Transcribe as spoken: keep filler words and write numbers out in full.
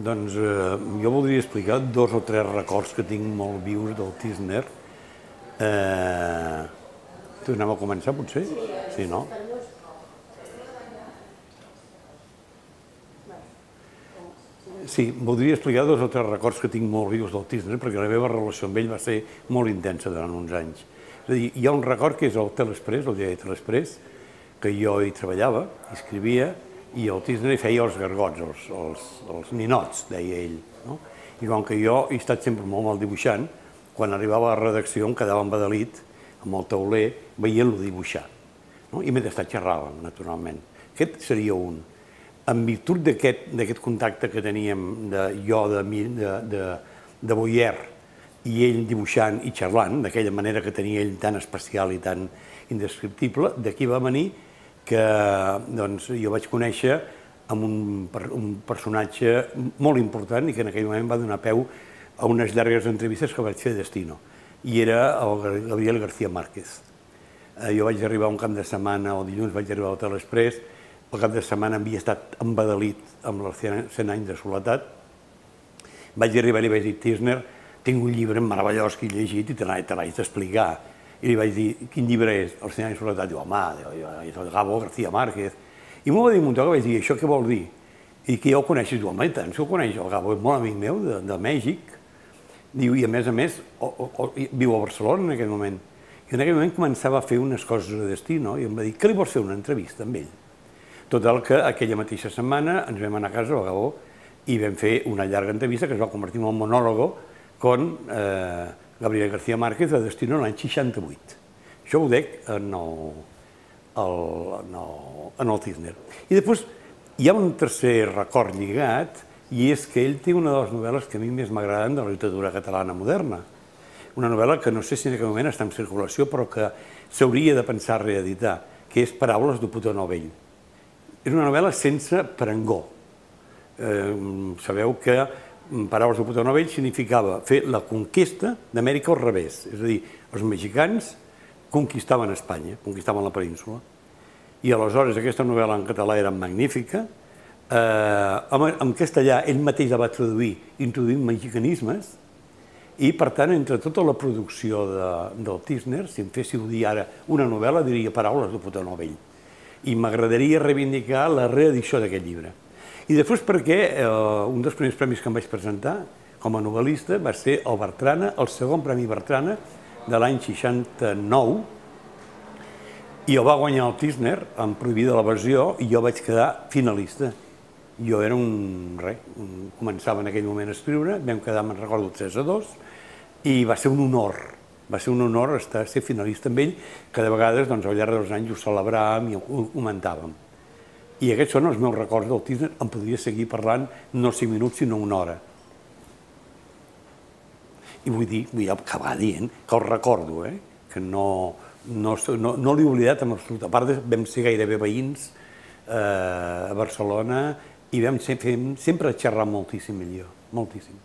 doncs jo voldria explicar dos o tres records que tinc molt vius del Tísner. Tornem a començar, potser? Sí, no? Sí, voldria explicar dos o tres records que tinc molt vius del Tísner, perquè la meva relació amb ell va ser molt intensa durant uns anys. És a dir, hi ha un record que és el Telexpress, el diari Telexpress, que jo hi treballava, hi escrivia, i el Tísner hi feia els gargots, els, els, els ninots, deia ell. No? I com que jo he estat sempre molt mal dibuixant, quan arribava a la redacció em quedava embadalit amb el tauler veient-lo dibuixar. No? I mentrestant xerràvem, naturalment. Aquest seria un. En virtut d'aquest contacte que teníem de, jo de, de, de, de Boyer i ell dibuixant i xerrant, d'aquella manera que tenia ell tan especial i tan indescriptible, d'aquí va venir que doncs, jo vaig conèixer amb un, un personatge molt important i que en aquell moment va donar peu a unes llargues entrevistes que vaig fer a Destino, i era el Gabriel García Márquez. Jo vaig arribar un cap de setmana, el dilluns vaig arribar al Telexpress, el cap de setmana havia estat embadalit amb els cent anys de soledat. Vaig arribar i li vaig dir, Tísner, tinc un llibre meravellós que he llegit i te l'haig d'explicar. I li vaig dir, quin llibre és? Els cent anys de soledat. Diu, home, és el Gabo García Márquez. I m'ho va dir un munt, que vaig dir, això què vol dir? I que ja ho coneixes. Diu, home, i tant, si ho coneix, el Gabo és molt amic meu, de Mèxic. Diu, i a més a més, viu a Barcelona en aquell moment. I en aquell moment començava a fer unes coses a Destino i em va dir, què li vols fer una entrevista amb ell? Total que aquella mateixa setmana ens vam anar a casa al Gabo i vam fer una llarga entrevista que es va convertir en un monòlogo con Gabriel García Márquez de Destino l'any seixanta-vuit. Això ho dec en el Tísner. I després hi ha un tercer record lligat, i és que ell té una de les novel·les que a mi més m'agraden de la literatura catalana moderna. Una novel·la que no sé si en aquell moment està en circulació, però que s'hauria de pensar reeditar, que és Paraules d'Oputó Novell. És una novel·la sense parangó. Sabeu que Paraules d'Oputó Novell significava fer la conquesta d'Amèrica al revés. És a dir, els mexicans conquistaven Espanya, conquistaven la península. I aleshores aquesta novel·la en català era magnífica. En castellà ell mateix la va traduir introduint mexicanismes i, per tant, entre tota la producció del Tísner, si em féssiu dir ara una novel·la, diria Paraules d'Oputó Novell. I m'agradaria reivindicar la reedició d'aquest llibre. I després perquè un dels primers premis que em vaig presentar com a novel·lista va ser el Bertrana, el segon Premi Bertrana de l'any seixanta-nou, i el va guanyar el Tísner amb Prohibida l'evasió i jo vaig quedar finalista. Jo era un... res, començava en aquell moment a escriure, vam quedar, me'n recordo, tres a dos, i va ser un honor. Va ser un honor ser finalista amb ell, que de vegades al llarg dels anys ho celebràvem i ho comentàvem. I aquests són els meus records del Tísner. Em podria seguir parlant no cinc minuts, sinó una hora. I vull dir, vull acabar dient que el recordo, que no l'he oblidat en absolut. A part, vam ser gairebé veïns a Barcelona i vam sempre xerrar moltíssim millor, moltíssim.